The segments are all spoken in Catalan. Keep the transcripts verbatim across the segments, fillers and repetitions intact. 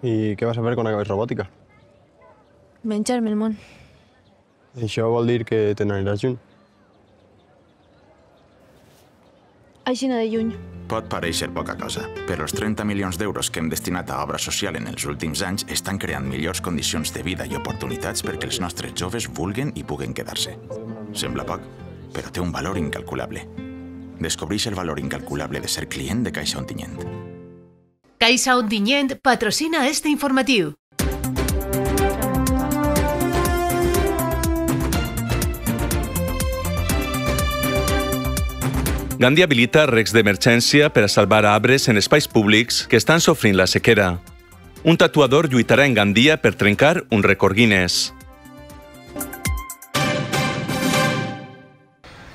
I què vas a fer quan acabes robòtica? Menjar-me el món. Això vol dir que te n'aniràs lluny. Aixina de lluny. Pot parèixer poca cosa, però els trenta milions d'euros que hem destinat a obra social en els últims anys estan creant millors condicions de vida i oportunitats perquè els nostres joves vulguen i puguen quedar-se. Sembla poc, però té un valor incalculable. Descobreix el valor incalculable de ser client de Caixa Ontinyent. Caixa Ontinyent patrocina este informatiu. Gandia habilita recs d'emergència per a salvar arbres en espais públics que estan sofrint la sequera. Un tatuador lluitarà en Gandia per trencar un rècord Guinness.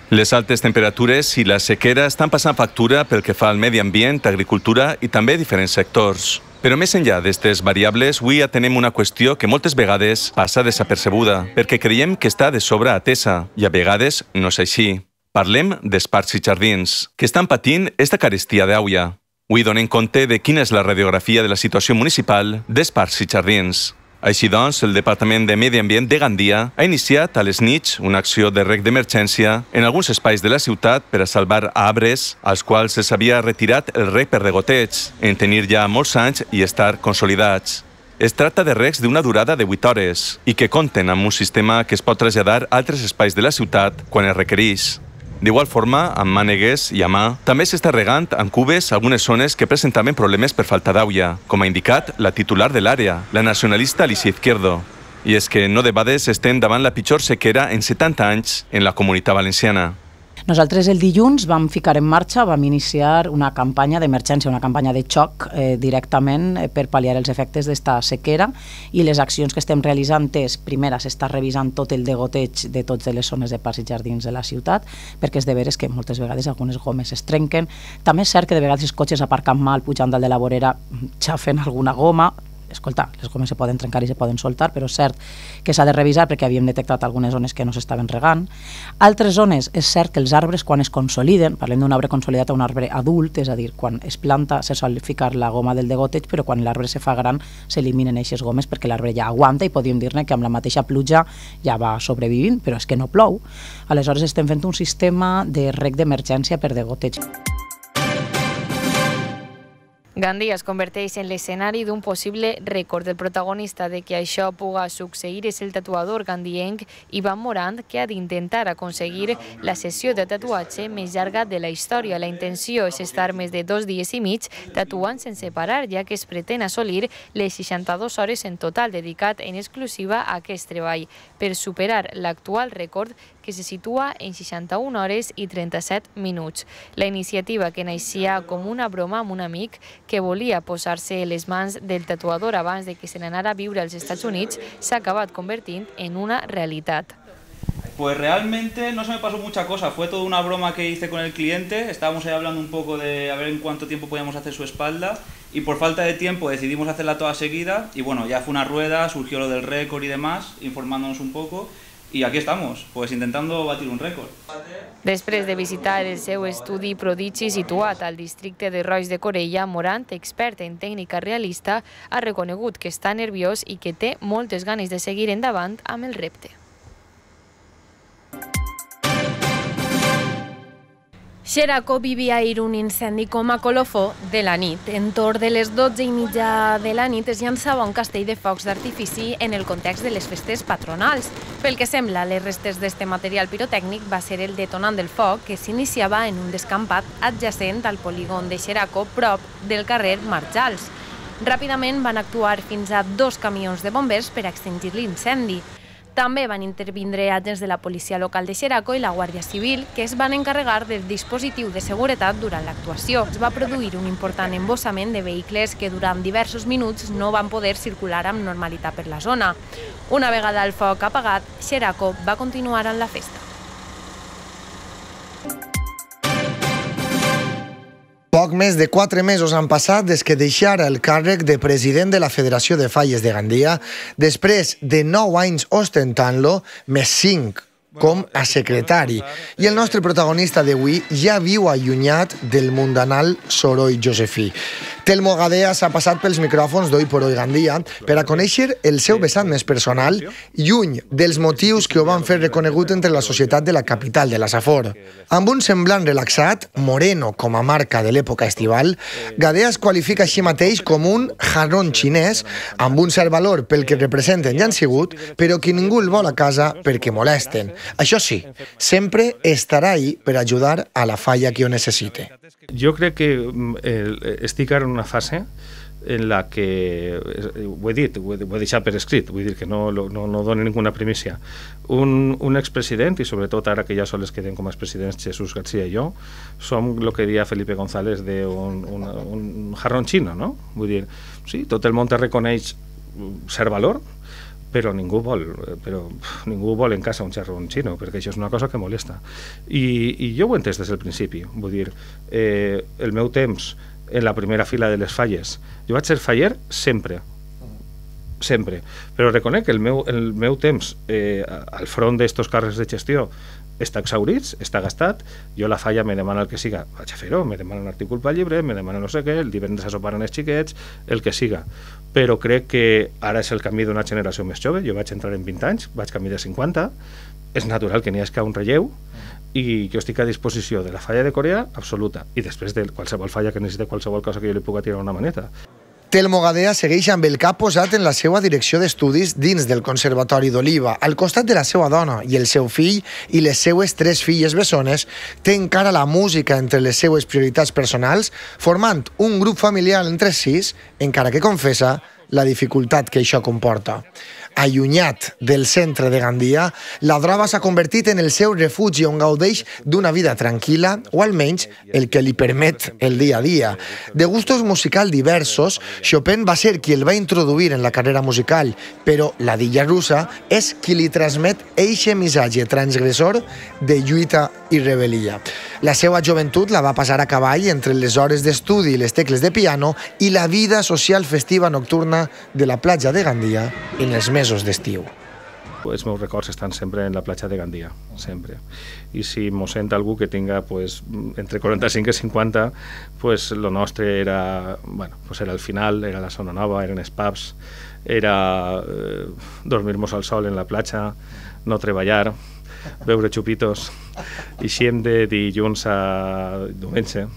Les altes temperatures i la sequera estan passant factura pel que fa al medi ambient, agricultura i també diferents sectors. Però més enllà d'aquestes variables, avui atenem una qüestió que moltes vegades passa desapercebuda, perquè creiem que està de sobre atesa, i a vegades no és així. Parlem dels parcs i jardins, que estan patint esta carestia d'aigua. Avui donem compte de quina és la radiografia de la situació municipal dels parcs i jardins. Així doncs, el Departament de Medi Ambient de Gandia ha iniciat a les nits una acció de rec d'emergència en alguns espais de la ciutat per a salvar arbres als quals se s'havia retirat el rec per degoteig, en tenir ja molts anys i estar consolidats. Es tracta de recs d'una durada de vuit hores i que compten amb un sistema que es pot traslladar a altres espais de la ciutat quan es requereix. D'igual forma, amb mànegues i a mà, també s'està regant amb cubes algunes zones que presentaven problemes per falta d'aigua, com ha indicat la titular de l'àrea, la nacionalista Alicia Izquierdo. I és que no debades estem davant la pitjor sequera en setanta anys en la Comunitat Valenciana. Nosaltres el dilluns vam ficar en marxa, vam iniciar una campanya d'emergència, una campanya de xoc eh, directament eh, per pal·liar els efectes d'esta sequera, i les accions que estem realitzant és, primera, s'està revisant tot el degoteig de totes les zones de parcs i jardins de la ciutat, perquè és de veres que moltes vegades algunes gomes es trenquen. També és cert que de vegades els cotxes aparcant mal pujant dalt de la vorera xafen alguna goma. Escolta, les gomes se poden trencar i se poden soltar, però és cert que s'ha de revisar perquè havíem detectat algunes zones que no s'estaven regant. Altres zones, és cert que els arbres quan es consoliden, parlem d'un arbre consolidat a un arbre adult, és a dir, quan es planta se sol ficar la goma del degoteig, però quan l'arbre se fa gran s'eliminen aquestes gomes perquè l'arbre ja aguanta i podríem dir-ne que amb la mateixa pluja ja va sobrevivint, però és que no plou. Aleshores estem fent un sistema de rec d'emergència per degoteig. Gandia es converteix en l'escenari d'un possible rècord. El protagonista de que això puga succeir és el tatuador gandienc Ivan Morant, que ha d'intentar aconseguir la sessió de tatuatge més llarga de la història. La intenció és estar més de dos dies i mig tatuant sense parar, ja que es pretén assolir les seixanta-dues hores en total dedicat en exclusiva a aquest treball, per superar l'actual rècord que se situa en seixanta-una hores i trenta-set minuts. La iniciativa, que naixia com una broma amb un amic que volia posar-se les mans del tatuador abans de que se n'anara a viure als Estats Units, s'ha acabat convertint en una realitat. Pues realmente no se me pasó mucha cosa, fue toda una broma que hice con el cliente, estábamos ahí hablando un poco de a ver en cuánto tiempo podíamos hacer su espalda, y por falta de tiempo decidimos hacerla toda seguida, y bueno, ya fue una rueda, surgió lo del récord y demás, informándonos un poco, i aquí estamos, pues intentando batir un rècord. Després de visitar el seu estudi prodigi situat al districte de Roix de Corella, Morant, expert en tècnica realista, ha reconegut que està nerviós i que té moltes ganes de seguir endavant amb el repte. Xeraco vivia ahir un incendi com a colofó de la nit. Entorn de les dotze i mitja de la nit es llançava un castell de focs d'artifici en el context de les festes patronals. Pel que sembla, les restes d'este material pirotècnic va ser el detonant del foc, que s'iniciava en un descampat adjacent al polígon de Xeraco, prop del carrer Marjals. Ràpidament van actuar fins a dos camions de bombers per extingir l'incendi. També van intervindre agents de la policia local de Xeraco i la Guàrdia Civil, que es van encarregar del dispositiu de seguretat durant l'actuació. Es va produir un important embossament de vehicles que durant diversos minuts no van poder circular amb normalitat per la zona. Una vegada el foc apagat, Xeraco va continuar amb la festa. Poc més de quatre mesos han passat des que deixara el càrrec de president de la Federació de Falles de Gandia, després de nou anys ostentant-lo, més cinc com a secretari. I el nostre protagonista d'avui ja viu allunyat del mundanal soroll josefí. Telmo Gadea s'ha passat pels micròfons d'Hoy por Hoy Gandia per a conèixer el seu vessant més personal, lluny dels motius que ho van fer reconegut entre la societat de la capital de la Safor. Amb un semblant relaxat, moreno com a marca de l'època estival, Gadea es qualifica així mateix com un jarrón xinès, amb un cert valor pel que representen i han sigut, però que ningú el vol a casa perquè molesten. Això sí, sempre estarà ahí per ajudar a la falla que ho necessite. Jo crec que eh, estic ara en una fase en la que, ho he dit, ho he, ho he deixat per escrit, vull dir que no, no, no dono ninguna primícia. Un, un expresident, i sobretot ara que ja sols queden com a expresidents Jesús García i jo, som el que diria Felipe González d'un un, un jarrón xino, no? Vull dir, sí, tot el món te reconeix cert valor, però ningú vol, però ningú vol en casa un xarrón xino, perquè això és una cosa que molesta. I, i jo ho he entès des del principi, vull dir, eh, el meu temps en la primera fila de les falles, jo vaig ser faller sempre, sempre, però reconec que el meu, el meu temps eh, al front d'estos càrrecs de gestió està exhaurits, està gastat, jo la falla me demana el que siga, vaig a fer-ho, me demana un article pel llibre, me demana no sé què, el divendres a sopar amb els xiquets, el que siga. Però crec que ara és el camí d'una generació més jove, jo vaig entrar en vint anys, vaig camí de cinquanta, és natural que n'hi hagi un relleu, i jo estic a disposició de la falla de Corea absoluta, i després de qualsevol falla que necessiti qualsevol cosa que jo li pugui tirar una maneta. Telmo Gadea segueix amb el cap posat en la seva direcció d'estudis dins del Conservatori d'Oliva. Al costat de la seva dona i el seu fill i les seues tres filles bessones, té encara la música entre les seues prioritats personals, formant un grup familiar entre sis, encara que confessa la dificultat que això comporta. Allunyat del centre de Gandia, la droga s'ha convertit en el seu refugi on gaudeix d'una vida tranquil·la, o almenys el que li permet el dia a dia. De gustos musicals diversos, Chopin va ser qui el va introduir en la carrera musical, però la dilla russa és qui li transmet eixe missatge transgressor de lluita i rebel·lia. La seva joventut la va passar a cavall entre les hores d'estudi i les tecles de piano i la vida social festiva nocturna de la platja de Gandia en els mesos d'estiu. Els meus records estan sempre en la platja de Gandia, sempre. I si mos sent algú que tinga pues, entre quaranta-cinc i cinquanta, pues, lo nostre era, bueno, pues era el final, era la zona nova, eren els pubs, era eh, dormir-nos al sol en la platja, no treballar, beure xupitos, i així de dilluns a diumenge.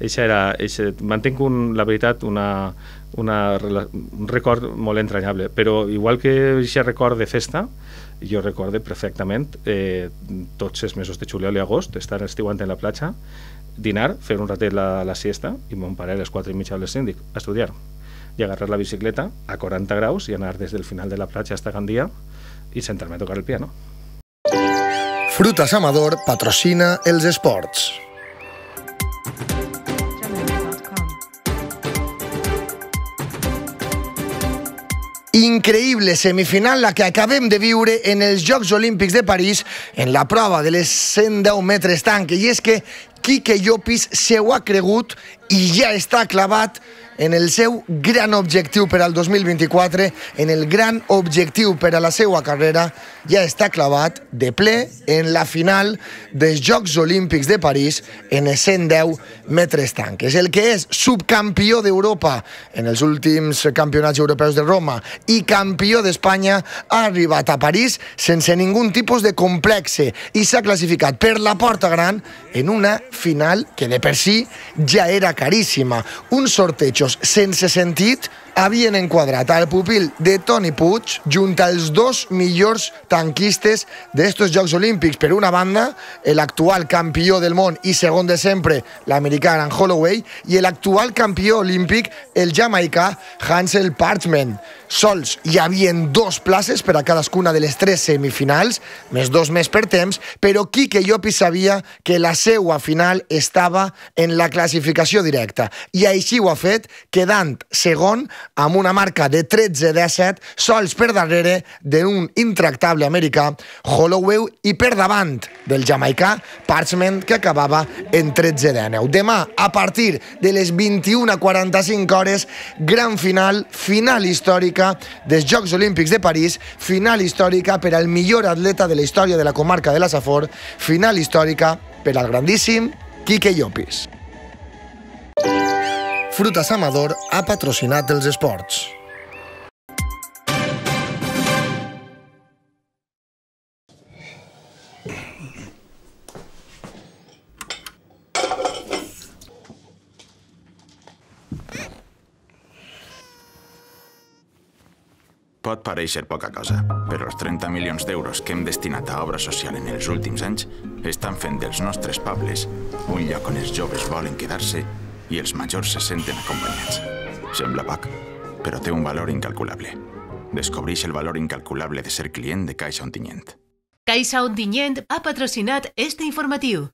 Eixa era, eixa, mantenc un, la veritat una, una, un record molt entranyable, però igual que aquest record de festa, jo recorde perfectament eh, tots els mesos de juliol i agost, estar estiuant en la platja, dinar, fer un ratet la, la siesta, i mon pare a les quatre i mitja al síndic a estudiar, i agarrar la bicicleta a quaranta graus i anar des del final de la platja hasta Gandia i sentar-me a tocar el piano. Frutas Amador patrocina els esports. Increïble semifinal la que acabem de viure en els Jocs Olímpics de París en la prova de les cent deu metres tanque, i és que Quique Llopis se ho ha cregut i ja està clavat en el seu gran objectiu per al dos mil vint-i-quatre, en el gran objectiu per a la seva carrera, ja està clavat de ple en la final dels Jocs Olímpics de París en els cent deu metres tanques. El que és subcampió d'Europa en els últims campionats europeus de Roma i campió d'Espanya ha arribat a París sense ningun tipus de complexe i s'ha classificat per la porta gran en una final que de per si ja era caríssima. Uns sortejos sense sentit havien enquadrat al pupil de Toni Puig junt als dos millors tanquistes d'estos Jocs Olímpics. Per una banda, l'actual campió del món i segon de sempre, l'americà Grant Holloway, i l'actual campió olímpic, el jamaicà Hansel Parchment. Sols hi havia dos places per a cadascuna de les tres semifinals, més dos més per temps, però Quique Llopis sabia que la seua final estava en la classificació directa, i així ho ha fet, quedant segon amb una marca de tretze disset, sols per darrere d'un intractable americà, Holloway, i per davant del jamaicà Parchment, que acabava en tretze dinou. Demà, a partir de les vint-i-una quaranta-cinc hores, gran final, final històrica dels Jocs Olímpics de París, final històrica per al millor atleta de la història de la comarca de la Safor, final històrica per al grandíssim Quique Llopis. Frutas Amador ha patrocinat els esports. Pot pareixer poca cosa, però els trenta milions d'euros que hem destinat a obra social en els últims anys estan fent dels nostres pobles un lloc on els joves volen quedar-se i els majors se senten acompanyats. Sembla poc, però té un valor incalculable. Descobreix el valor incalculable de ser client de Caixa Ontinyent. Caixa Ontinyent ha patrocinat este informatiu.